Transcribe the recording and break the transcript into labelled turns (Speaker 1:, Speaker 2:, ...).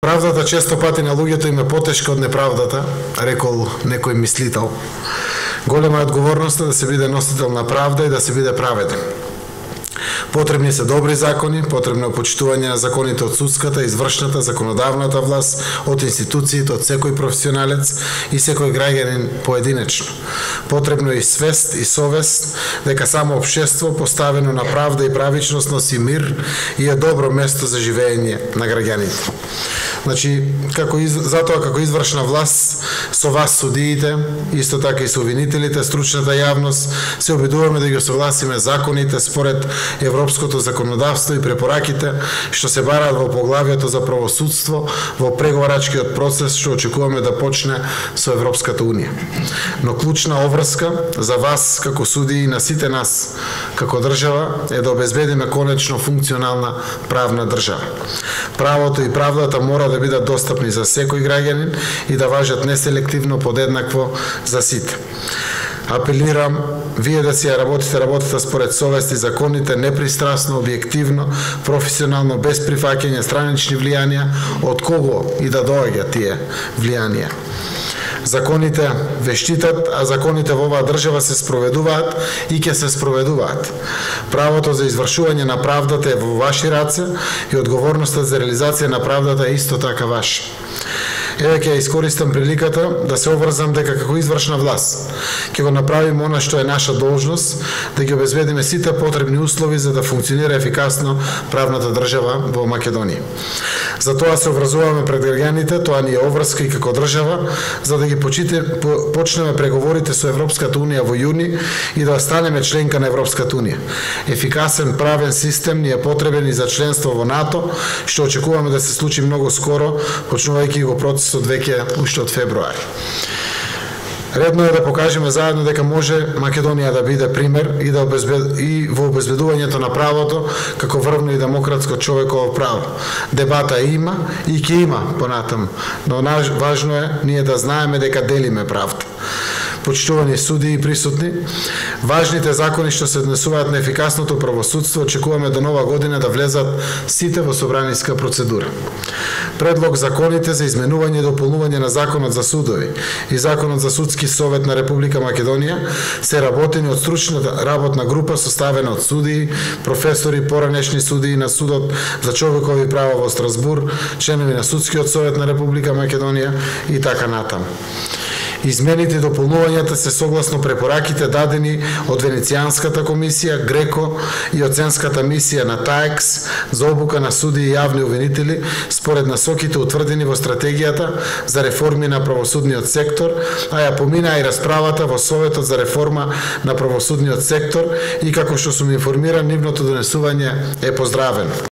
Speaker 1: Правдата често пати на луѓето им е потешка од неправдата, рекол некој мислител. Голема е одговорноста да се биде носител на правда и да се биде праведен. Потребни се добри закони, потребно е почитување на законите од судската, извршната, законодавната власт, од институциите, од секој професионалец и секој граѓанин поединечно. Потребно е и свест и совест дека само општество поставено на правда и правичност носи мир и е добро место за живење на граѓаните. Значи, затоа како извршна власт, со вас судиите, исто така и со обвинителите, стручната јавност, се обидуваме да ги согласиме законите според европското законодавство и препораките што се бараат во поглавието за правосудство во преговарачкиот процес што очекуваме да почне со Европската унија. Но клучна обврска за вас како судии и на сите нас како држава е да обезбедиме конечно функционална правна држава. Правото и правдата мора да бидат достапни за секој граѓанин и да важат неселективно подеднакво за сите. Апелирам вие да си ја работите работата според совест и законите, непристрасно, објективно, професионално, без прифаќање странични влијанија, од кого и да доаѓа тие влијанија. Законите ве штитат, а законите во оваа држава се спроведуваат и ќе се спроведуваат. Правото за извршување на правдата е во ваши раце и одговорноста за реализација на правдата е исто така ваша. Еве ќе искористам приликата да се обврзам дека како извршна власт ќе го направиме она што е наша должност, да ги обезбедиме сите потребни услови за да функционира ефикасно правната држава во Македонија. За тоа се обврзуваме пред граѓаните, тоа ни е обврска и како држава, за да ги почнеме преговорите со Европската унија во јуни и да станеме членка на Европската унија. Ефикасен правен систем ни е потребен и за членство во НАТО, што очекуваме да се случи многу скоро, почнувајќи го процесот веќе уште од февруари. Редно е да покажеме заедно дека може Македонија да биде пример и во обезбедувањето на правото како врвно и демократско човеково право. Дебата има и ќе има понатаму, но важно е ние да знаеме дека делиме правда. Почитувани судии и присутни, важните закони што се однесуваат на ефикасното правосудство очекуваме до нова година да влезат сите во собраниска процедура. Предлог законите за изменување и дополнување на Законот за судови и Законот за судски совет на Република Македонија се работени од стручната работна група составена од судии, професори, поранешни судии на Судот за човекови права во Страсбур, членови на Судскиот совет на Република Македонија и така натаму. Измените и дополнувањата се согласно препораките дадени од Венецијанската комисија, Греко и оценската мисија на ТАЕКС за обука на судии и јавни обвинители според насоките утврдени во стратегијата за реформи на правосудниот сектор, а ја помина и расправата во Советот за реформа на правосудниот сектор и како што сум информиран, нивното донесување е поздравено.